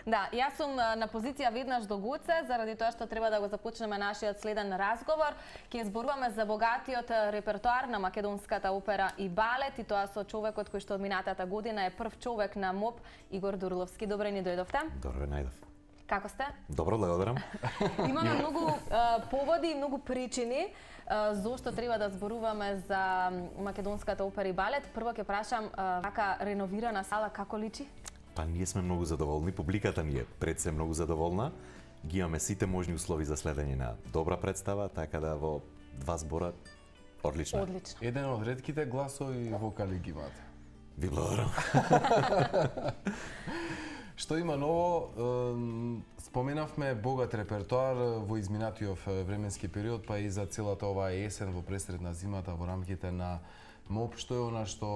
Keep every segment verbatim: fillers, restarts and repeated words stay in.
Да, јас сум на позиција веднаш до Гоце, заради тоа што треба да го започнеме нашиот следен разговор. Ќе зборуваме за богатиот репертоар на македонската опера и балет, и тоа со човекот кој што од минатата година е прв човек на МОП, Игор Дурловски. Добре ни дојдовте. Добро ве најдов. Како сте? Добро, благодарам. Имаме многу а, поводи и многу причини а, зошто треба да зборуваме за македонската опера и балет. Прво ќе прашам, вака реновирана сала како личи? Па ние сме многу задоволни, публиката ни е пред се многу задоволна. Ги имаме сите можни услови за следење на добра представа, така да во два збора одлично. Одлично. Еден од ретките гласови вокали ги имате. Ви благодарам. Што има ново? Споменавме богат репертоар во изминатиот временски период, па и за целата оваа есен во пресред на зимата во рамките на МОП. Што е она што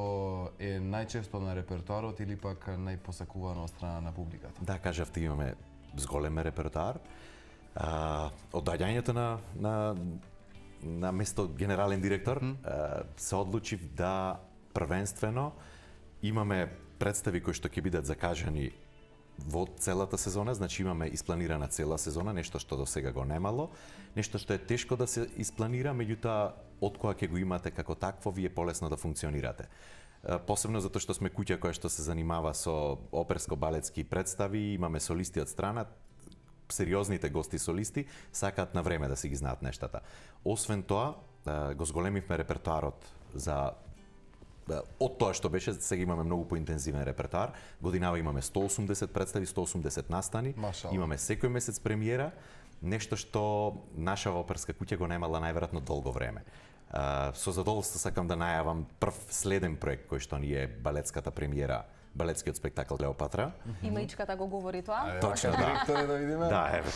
е најчесто на репертоарот или пак најпосакувано од страна на публиката? Да, кажавте, имаме зголем репертоар. А, од доаѓањето на, на, на место генерален директор mm. а, се одлучив да првенствено имаме представи кои што ќе бидат закажани во целата сезона, значи имаме испланирана цела сезона, нешто што до сега го немало, нешто што е тешко да се испланира, меѓутоа од кога ќе го имате како такво, ви е полесно да функционирате. Посебно затоа што сме куќа која што се занимава со оперско-балетски представи, имаме солисти од страна, сериозните гости солисти сакаат на време да си ги знаат нештата. Освен тоа, го зголемивме репертоарот за од тоа што беше, сега имаме многу поинтензивен репертоар. Годинава имаме сто и осумдесет представи, сто и осумдесет настани. Машала. Имаме секој месец премиера, нешто што наша оперска куќа го немала најверојатно долго време. Uh, со задоволство сакам да најавам прв следен проект кој што ни е балетската премиера, балетскиот спектакл Клеопатра. Има ичката го говори тоа? Точно, да. Директор да видиме? Да, еве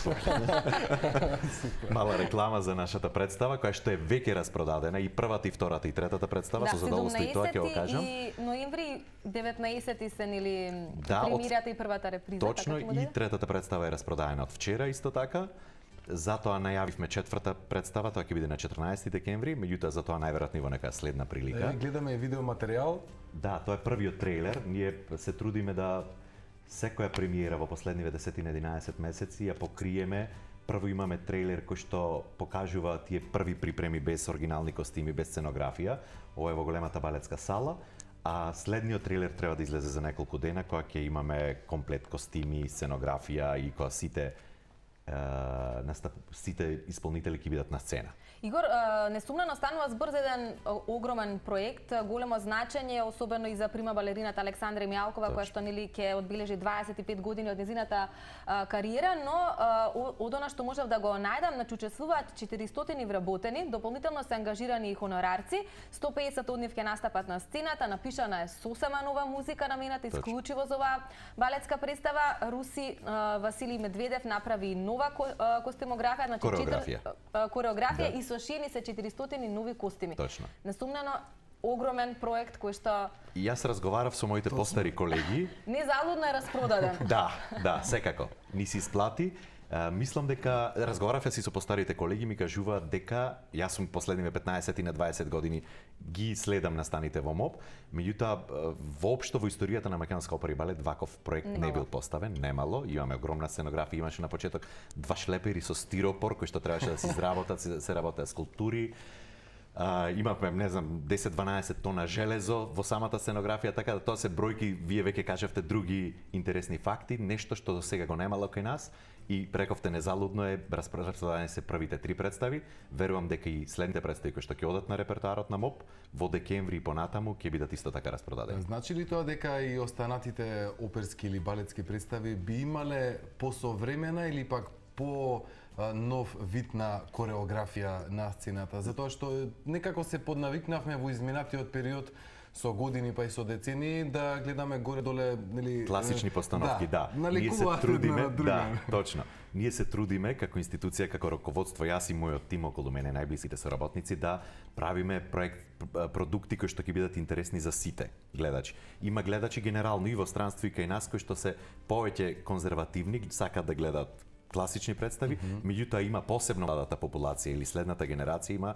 мала реклама за нашата представа, која што е веќе распродадена, и првата, и втората, и третата представа, да, со задоволство и тоа ќе го кажам. И ноември деветнаесети се нели да, премиерата и првата реприза. Точно, и третата представа е распродаена од вчера исто така. Затоа најавивме четврта представа, тоа ќе биде на четрнаесети декември, меѓутоа за тоа најверојатно во нека следна прилика. Е, гледаме видеоматеријал. Да, тоа е првиот трейлер. Ние се трудиме да секоја премиера во последниве десет-единаесет месеци ја покриеме. Прво имаме трейлер кој што покажува тие први припреми без оригинални костими, без сценографија. Ова е во големата балетска сала. А следниот трейлер треба да излезе за неколку дена, кога ќе имаме комплет костими, сценографија и кога сите настап, сите исполнители ќе бидат на сцена. Игор, несумнено станува збор за еден огромен проект, големо значење, особено и за прима балерината Александра Мјалкова, која што нели ќе одбележи дваесет и пет години од незината кариера, но од она што можев да го најдам, значи учествуваат четиристотини вработени, дополнително се ангажирани и хонорарци, сто и песет од нив ќе настапат на сцената, напишана е сосема нова музика намената исклучиво за оваа балетска представа. Руси Василий Медведев направи нова костимографија, значи кореографија, кореографија да. И со шини се четиристотини нови костими. Точно. Несумнено огромен проект кој што И јас разговарав со моите Точно. Постари колеги. Незалудно е распродаден. Да, да, секако. Ни се исплати. Uh, мислам дека разговарав си со постарите колеги, ми кажуваат дека јас сум последниве петнаесет и на дваесет години ги следам настаните во МОП, меѓутоа воопшто во историјата на македонска опера и балет ваков проект немало. Не бил поставен, немало. Имаме огромна сценографија, имаше на почеток два шлепери со стиропор кои што требаше да се изработат, се, се работеа скулптури. Uh, имавме, не знам, десет-дванаесет тона железо во самата сценографија, така да тоа се бројки, вие веќе кажавте други интересни факти, нешто што до сега го немало кај нас и прековте незалудно е распродадени се првите три представи. Верувам дека и следните представи кои што ќе одат на репертоарот на МОП во декември и понатаму ќе бидат исто така распродадени. Значи ли тоа дека и останатите оперски или балетски представи би имале посовремена или пак по нов вид на кореографија на сцената, затоа што некако се поднавикнавме во изминатиот период со години па и со децени да гледаме горе-доле, нели, класични постановки, да. да. Ние се трудиме, да, точно. Ние се трудиме како институција, како раководство, јас и мојот тим околу мене, најблисите соработници, да правиме проект продукти кои што ќе бидат интересни за сите гледачи. Има гледачи генерално и во странство и кај нас кои што се повеќе конзервативни, сакаат да гледат класични представи, mm -hmm. меѓутоа има посебно младата популација или следната генерација има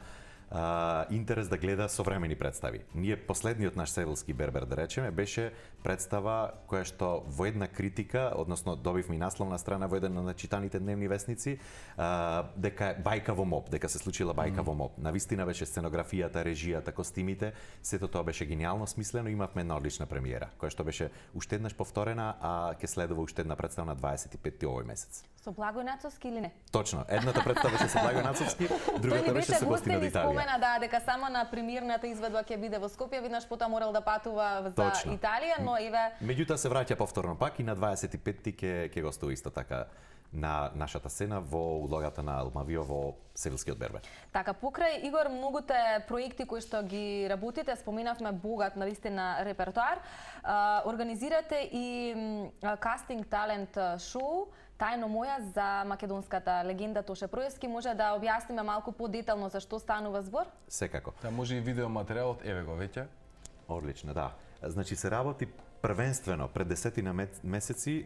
а, интерес да гледа современи представи. Ние последниот наш Севилски бербер, да речеме, беше представа која што во една критика, односно добивме и насловна страна во еден од читаните дневни вестници, а, дека бајка во МОП, дека се случила бајка mm. во МОП. Навистина беше сценографијата, режијата, костимите, сето тоа беше гениално смислено, имавме една одлична премиера, која што беше уште еднаш повторена, а ќе следува уште една представа на дваесет и петти овој месец. Со Благој Нацовски или не? Точно, едната представа беше со Благој Нацовски, другата беше со гостин од Италија. Спомена да дека само на премиерната изведба ќе биде во Скопје, виднаш потоа морал да патува за Точно. Италија, но еве меѓутоа се враќа повторно пак и на дваесет и петти ќе ќе гостува исто така на нашата сцена во улогата на Алмавио во Севилскиот бербер. Така, покрај Игор, многуте проекти кои што ги работите, споменавме богат навистина репертоар, организирате и кастинг талент шоу Тајно моја за македонската легенда Тоше Проевски. Може да објасниме малку подетално за што станува збор? Секако. Да, може и видеоматеријалот, еве го веќе. Одлично, да. Значи се работи првенствено пред десетина месеци е,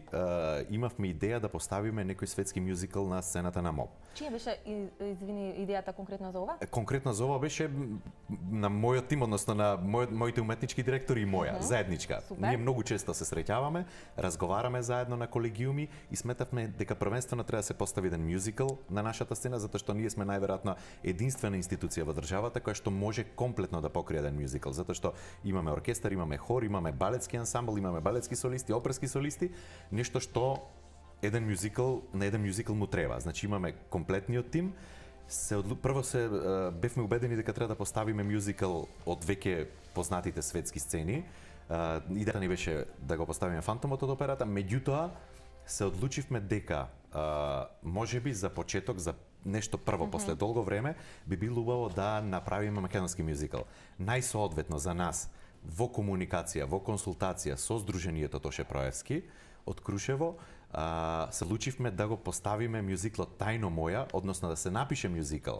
имавме идеја да поставиме некој светски мюзикл на сцената на МОП. Чија беше, извини, идејата конкретно за ова? Конкретно за ова беше на мојот тим, односно на мој, моите уметнички директори и моја, uh -huh. заедничка. Супер. Ние многу често се среќаваме, разговараме заедно на колегиуми и сметавме дека првенствено треба да се постави еден мюзикл на нашата сцена, затоа што ние сме најверојатно единствена институција во државата која што може комплетно да покрие еден мюзикл, затоа што имаме оркестар, имаме хор, имаме балетски ансамбл, имаме балетски солисти, оперски солисти, нешто што еден мюзикл, на еден мюзикл му треба. Значи имаме комплетниот тим. Се одлу... Прво се бевме убедени дека треба да поставиме мюзикл од веќе познатите светски сцени. Идејата ни беше да го поставиме Фантомот од операта, меѓутоа се одлучивме дека можеби за почеток, за нешто прво, mm -hmm. после долго време, би било убаво да направиме македонски мюзикл. Најсоодветно за нас во комуникација, во консултација со Сдруженијето Тоше Проевски од Крушево, а, се лучивме да го поставиме мюзиклот Тајно моја, односно да се напише мюзикл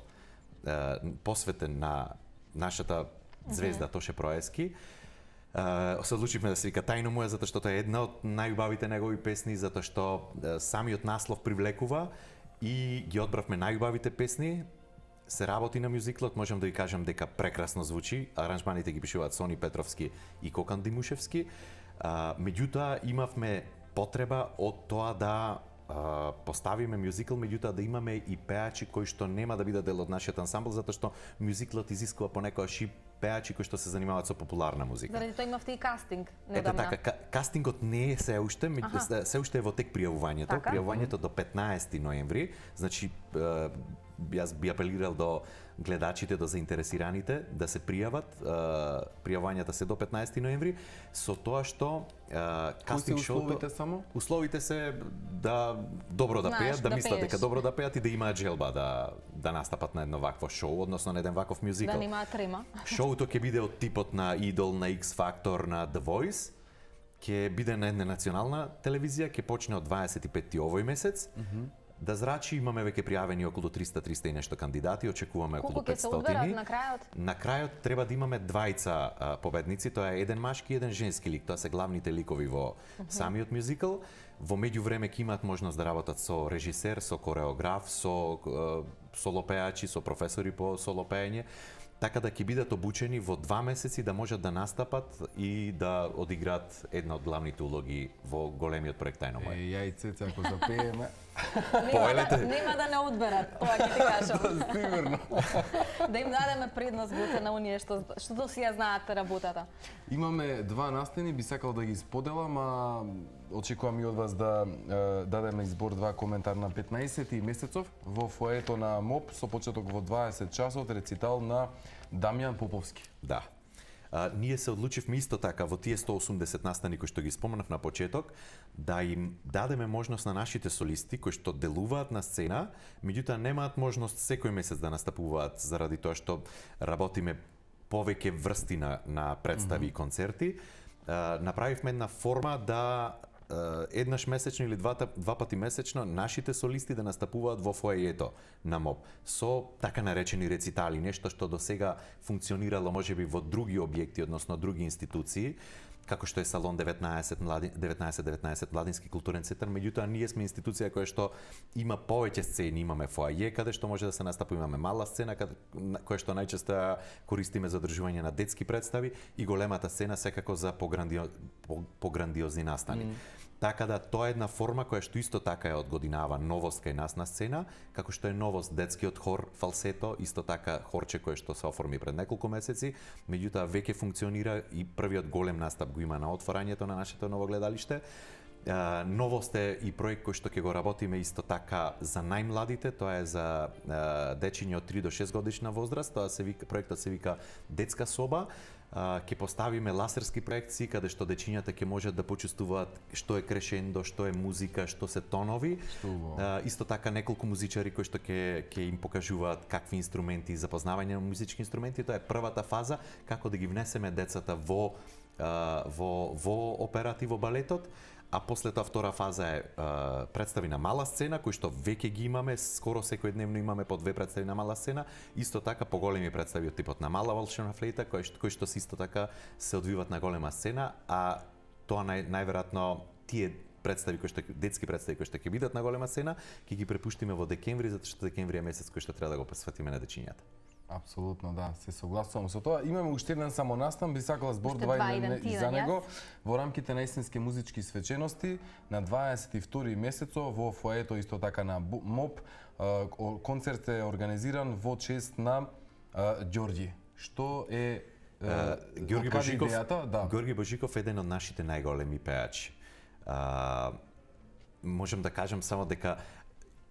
а, посветен на нашата звезда mm -hmm. Тоше Проевски. А, се одлучивме да се вика Тајно моја затоа што тоа е една од најубавите негови песни, затоа што а, самиот наслов привлекува и ги одбравме најубавите песни. Се работи на мюзиклот, можам да ви кажам дека прекрасно звучи. Аранжманите ги пишуваат Сони Петровски и Кокан Димушевски. А, меѓутоа имавме потреба од тоа да а, поставиме мюзикл, меѓутоа да имаме и пеачи кои што нема да бидат дел од нашиот ансамбл, затоа што мюзиклот изискува понекогаш и пеачи кои што се занимаваат со популарна музика. Заради тоа имавте и кастинг недавна. Ете така, кастингот не е се уште, ага. се уште е во тек пријавувањето. Така? Пријавувањето до петнаесети ноември, значи јас би апелирал до гледачите, до заинтересираните да се пријават. Пријавувањата се до петнаесети ноември, со тоа што кастинг шоуто... Условите само? Условите се да добро да Знаеш, пеат, да, да мислат пееш. дека добро да пеат и да имаат желба да, да настапат на едно вакво шоу, односно на еден ваков мюзикл. Да немаат трема. Шоуто ќе биде од типот на Идол, на X Factor, на The Voice. Ќе биде на една национална телевизија, ќе почне од дваесет и петти овој месец. Mm -hmm. Да зрачи, имаме веќе пријавени околу триста триста и нешто кандидати, очекуваме околу петстотини. петстотини. Колку ќе се одберат на крајот? На крајот треба да имаме двајца а, победници, тоа е еден машки и еден женски лик, тоа се главните ликови во uh -huh. самиот мюзикл. Во меѓувреме ќе имаат можност да работат со режисер, со кореограф, со а, солопеачи, со професори по солопеење, така да ќе бидат обучени во два месеци да можат да настапат и да одиграат една од главните улоги во големиот проект Тајно моја. Е, ја и Цеца, ако запееме... Нема да, нема да не одберат, тоа ќе ти кажам. Да, сигурно. Да им дадеме предност буте на оние што што до сега знаат работата. Имаме два настани, би сакал да ги споделам, а очекувам и од вас да е, дадеме избор два коментар на петнаесети месецов во фоето на МОП со почеток во дваесет часот рецитал на Дамјан Поповски. Да. А, ние се одлучивме исто така во тие сто осумдесет настани кои што ги споменав на почеток да им дадеме можност на нашите солисти кои што делуваат на сцена, меѓутоа немаат можност секој месец да настапуваат заради тоа што работиме повеќе врсти на, на представи mm -hmm. и концерти. А, направивме една форма да еднаш месечно или два, два пати месечно нашите солисти да настапуваат во фоејето на МОП со така наречени рецитали, нешто што до сега функционирало можеби во други објекти, односно други институции. како што е Салон деветнаесет деветнаесет деветнаесет Младински културен центар, меѓутоа ние сме институција која што има повеќе сцени, имаме фоаје каде што може да се настапува, имаме мала сцена каде која што најчесто користиме за одржување на детски представи и големата сцена секако за пограндио, пограндиозни настани. Mm. Така да тоа е една форма која што исто така е од годинава новост кај нас на сцена, како што е новост детскиот хор Фалсето, исто така хорче кое што се оформи пред неколку месеци, меѓутоа веќе функционира и првиот голем настап го има на отворањето на нашето ново гледалиште. Uh, новост е и проект кој што ќе го работиме исто така за најмладите, тоа е за uh, дечиња од три до шест годишна возраст, тоа се вика, проектот се вика Детска соба. Uh, ќе поставиме ласерски проекции каде што дечињата ќе можат да почувствуваат што е крешендо, што е музика, што се тонови. Uh, исто така неколку музичари кои што ќе ќе им покажуваат какви инструменти, запознавање на музички инструменти. Тоа е првата фаза како да ги внесеме децата во uh, во во операта и во балетот. А после тоа втора фаза е uh, представи на мала сцена, кои што веќе ги имаме, скоро секојдневно имаме по две представи на мала сцена, исто така поголеми представи од типот на мала волшебна флейта, кои што, кои што се исто така се одвиват на голема сцена, а тоа нај, најверојатно тие представи кои што детски представи кои што ќе бидат на голема сцена, ќе ги препуштиме во декември, затоа што декември е месец кој што треба да го посветиме на дечињата. Апсолутно, да, се согласувам со тоа. Имаме уште еден само настан, би сакала збор два и за него во рамките на есенски музички свечености на дваесет и втори месецо во фоето исто така на МОП. Концерт е организиран во чест на Ѓорѓи. Што е Ѓорѓи Божиков? Да. Ѓорѓи Божиков е еден од нашите најголеми пејачи. Можам да кажам само дека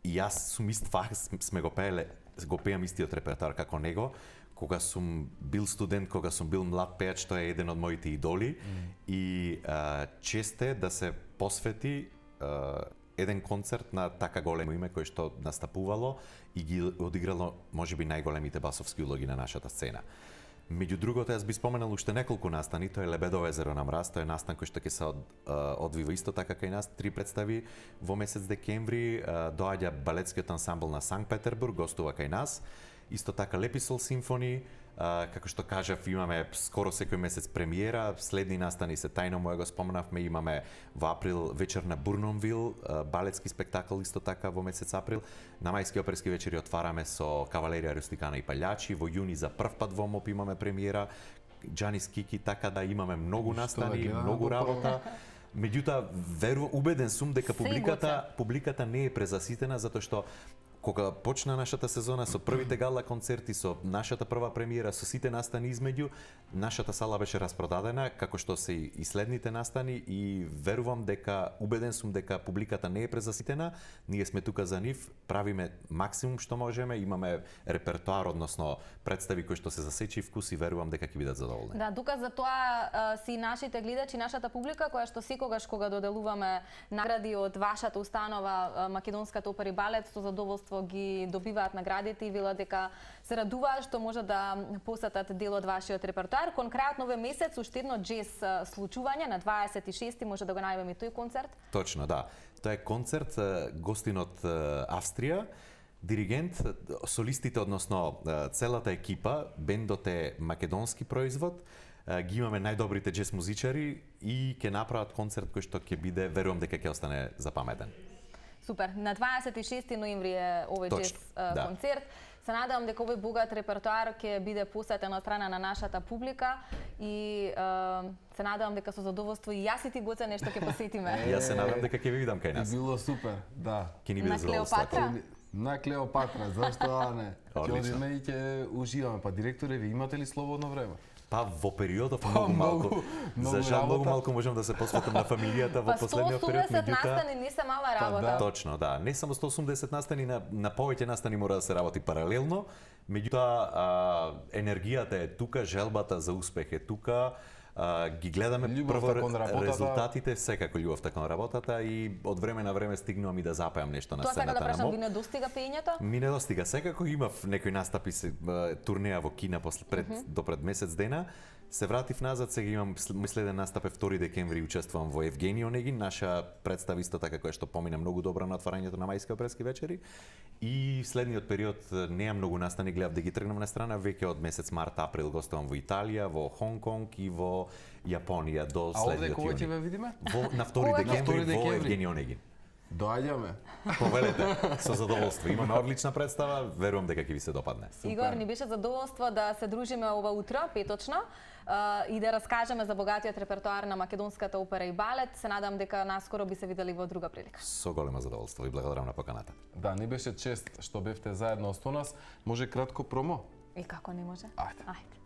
и јас сум ист фах, сме го пееле, го пеам истиот репертоар како него. Кога сум бил студент, кога сум бил млад пејач, тоа е еден од моите идоли. Mm. И а, чест е да се посвети а, еден концерт на така големо име кој што настапувало и ги одиграло можеби најголемите басовски улоги на нашата сцена. Меѓу другото, јас би споменал уште неколку настани, тоа е Лебедово езеро на мраз, тоа е настан кој што ќе се од, одвива исто така кај нас, три представи во месец декември, доаѓа балетскиот ансамбл на Санкт Петербург, гостува кај нас, исто така Леписол симфони, како што кажав, имаме скоро секој месец премиера, следни настани се тајно моја го споменавме, имаме во април вечер на Бурнонвил, балетски спектакл исто така во месец април, на мајски оперски вечери отвараме со Кавалерија Рустикана и Палјачи, во јуни за прв пат во МОП имаме премиера, Џанис Кики, така да имаме многу настани, многу работа. Меѓутоа, верувам, убеден сум дека публиката, публиката не е презаситена, затоа што кога почна нашата сезона со првите гала концерти, со нашата прва премиера, со сите настани измеѓу, нашата сала беше распродадена, како што се и следните настани, и верувам дека, убеден сум дека публиката не е презаситена, ние сме тука за нив, правиме максимум што можеме, имаме репертоар, односно представи кои што се засечи вкус и верувам дека ќе бидат задоволни. Да, доказ за тоа а, си нашите гледачи, нашата публика, која што секогаш кога доделуваме награди од вашата установа Македонската опера и балет, со задоволство ги добиваат наградите и велат дека се радуваат што може да посетат дел од вашиот репертоар. Конкретно овој месец уште едно джез случување на дваесет и шести, може да го најавиме тој концерт? Точно, да. Тоа е концерт гостин од Австрија, диригент, солистите, односно целата екипа, бендот е македонски производ, ги имаме најдобрите джез музичари и ќе направат концерт кој што ќе биде, верувам дека ќе остане запаметен. Супер. На дваесет и шести ноември е овој джез да. концерт. Се надевам дека овој богат репертоар ќе биде посетен од страна на нашата публика и е, се надевам дека со задоволство и јас и ти Гоце нешто ќе посетиме. Јас се надевам дека ќе ви видам кај нас. И било супер, да. Ќе ни биде задоволство. На Клеопатра, зашто да не? Ќе одиме и ќе уживаме. Па директоре, ви имате ли слободно време? Па во периодов многу малку. За жал многу малку можам да се посветам на фамилијата во последниот период, меѓутоа сто осумдесет настани не се мала работа. Да. Точно, да. Не само сто осумдесет настани, на, на повеќе настани мора да се работи паралелно, меѓутоа енергијата е тука, желбата за успех е тука. А, ги гледаме прво резултатите, секако љубовта кон работата и од време на време стигнувам и да запеам нешто на сцената на МОП. Тоа сака да прашам, ви не достига пеењето? Ми не достига. Секако имав некои настапи, се, турнеја во Кина после пред mm -hmm. до пред месец дена. Се вратив назад, сега имам следен настап е втори декември, учествувам во Евгени Онегин, наша представа исто така која што помина многу добро на отварањето на мајски оперски вечери. И следниот период неа многу настани, гледав да ги тргнам на страна, веќе од месец март, април гостувам во Италија, во Хонг Конг и во до Јапонија, до А овде следниот кога ќе јуни. ве видиме? Во, на втори Кога ќе- декември втори во декември. Евгени Онегин. Доаѓаме. Повелете, со задоволство. Имаме одлична представа, верувам дека ќе ви се допадне. Игор, ни беше задоволство да се дружиме ова утро, петочно, а, и да раскажеме за богатиот репертоар на македонската опера и балет. Се надам дека наскоро би се видели во друга прилика. Со големо задоволство и благодарам на поканата. Да, ни беше чест што бевте заедно со нас. Може кратко промо? И како не може? Ајде. Ајде.